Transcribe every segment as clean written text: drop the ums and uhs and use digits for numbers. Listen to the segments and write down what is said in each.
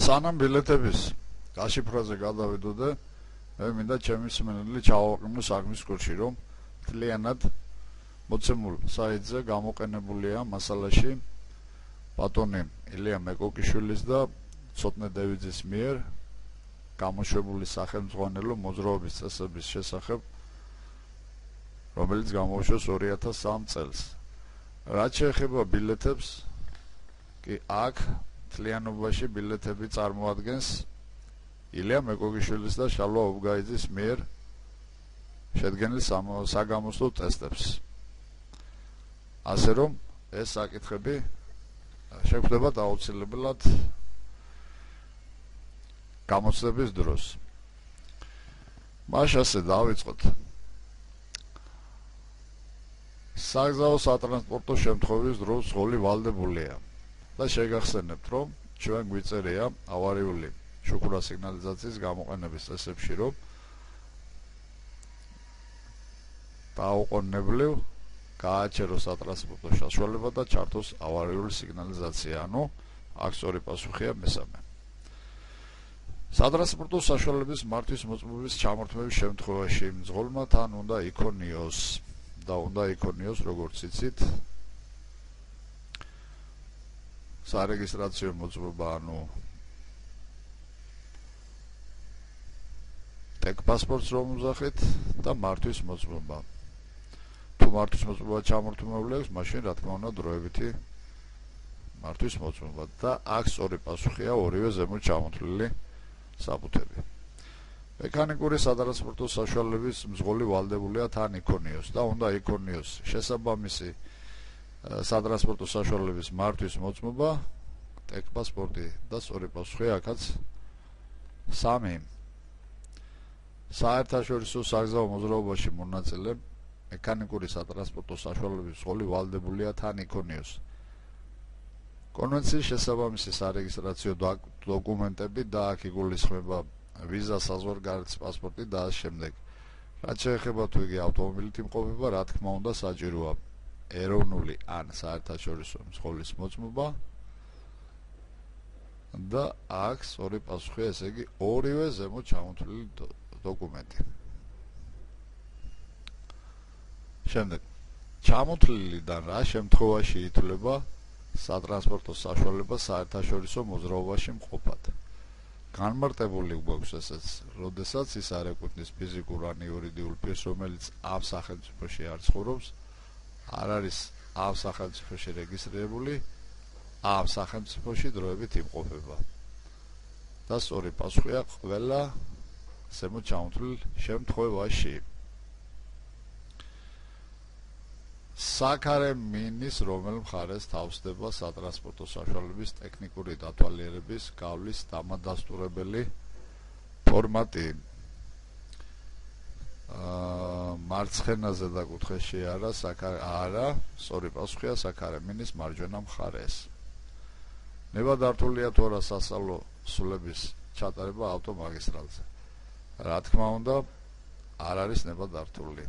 სანამ ბილეთების გაშიფრაზე გადავიდოდე, მე მინდა ჩემი მსმენელი ჩავაყენო საქმის კურსში, რომ მთლიანად მოცემულ საიტზე გამოყენებულია მასალაში ბატონი ილია მეკოკიშვილის და ცოტნე დევიძის მიერ გამოშვებული სახელმძღვანელო მოძრაობის წესების შესახებ, რომელიც გამოუშვეს 2003 წელს. რაც შეეხება ბილეთებს, კი აქ მთლიანობაში ბილეთები წარმოადგენს ილია მეკოგიშვილის და შალვა უბგაიძის მიერ შედგენილ საგამოსვლო ტესტებს. ასე რომ ეს საკითხები შეგვხვდება აუცილებლად გამოცდების დროს. მაშ ასე დავიწყოთ. საგზაო სატრანსპორტო შემთხვევის დროს ზღოლი ვალდებულია და შეგახსენებთ, რომ ჩვენ გვიწერია ავარიული შუქურა სიგნალიზაციის გამოყენების წესებში, რომ დაუყოვნებლივ გააჩეროს სატრანსპორტო საშუალება და ჩართოს ავარიული სიგნალიზაცია, ანუ აქ სწორი პასუხია მესამე. სატრანსპორტო საშუალების მართვის მოწმობის ჩამორთმევის შემთხვევაში მძღოლმა თან უნდა იქონიოს და უნდა იქონიოს, როგორც იცით, სარეგისტრაციო მოწმობა, ანუ ტექ პასპორტს რომ უზახეთ და მართვის მოწმობა. თუ მართვის მოწმობა ჩამორთმეული აქვს, მაშინ რა თქმა უნდა დროებითი მართვის მოწმობა და აქ სწორი პასუხია ორივე ზემოთ ჩამოთვლილი საბუთები. მექანიკური სატრანსპორტო საშუალების მძღოლი ვალდებულია თან იქონიოს და უნდა იქონიოს შესაბამისი სატრანსპორტო საშუალების მართვის მოწმობა, ტექ პასპორტი და სწორი პასუხია აქაც 3. საერთაშორისო საგზაო მოძრაობაში მონაწილე მექანიკური სატრანსპორტო საშუალების მძღოლი ვალდებულია თან იქონიოს კონვენციის შესაბამისი სარეგისტრაციო დოკუმენტები და აქ იგულისხმება ვიზა, საზღვარგარეთის პასპორტი და ამ შემდეგ. რაც შეეხება თუ იგი ავტომობილით იმყოფება, რა თქმა უნდა საჭიროა ეროვნული ან საერთაშორისო მძღოლის მოწმობა და აქ სწორი პასუხია, ესე იგი ორივე ზემოთ ჩამოთვლილი დოკუმენტი. შემდეგ ჩამოთვლილიდან რა შემთხვევაში ითვლება სატრანსპორტო საშუალება საერთაშორისო მოძრაობაში მყოფად. განმარტებული გვაქვს ესეც, როდესაც ის არ ეკუთვნის ფიზიკურ ან იურიდიულ პირს, რომელიც ამ სახელმწიფოში არ ცხოვრობს, არ არის ამ სახელმწიფოში რეგისტრირებული, ამ სახელმწიფოში დროებით იმყოფება. და სწორი პასუხია ყველა ზემოთ ჩამოთვლილ შემთხვევაში. საქარე მინის რომელ მხარეს თავსდება სატრანსპორტო საშუალების ტექნიკური დათვალიერების გავლის დამადასტურებელი ფორმატი. მარცხენაზე და კუთხეში არა, სწორი პასუხია საქარე მინის მარჯვენა მხარეს. ნებადართულია თუ არა სასწავლო სულების ჩატარება ავტომაგისტრალზე. რა თქმა უნდა, არ არის ნებადართული.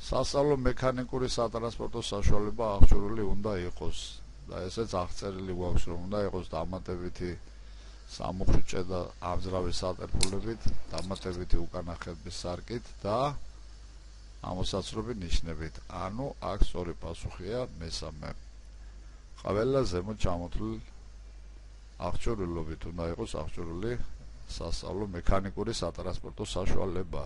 სასწავლო მექანიკური სატრანსპორტო საშუალება აღჭურვილი უნდა იყოს და ესეც აღწერილი გვაქვს, რომ უნდა იყოს დამატებითი სამუხრუჭე და ამძრავი სატერფულებით, დამატებითი უკანახების სარკით და ამოსაცრობი ნიშნებით. ანუ აქ სწორი პასუხია მესამე. ყველა ზემოთ ჩამოთვლილ აღჭურვილობით უნდა იყოს აღჭურვილი სასწავლო მექანიკური სატრანსპორტო საშუალება.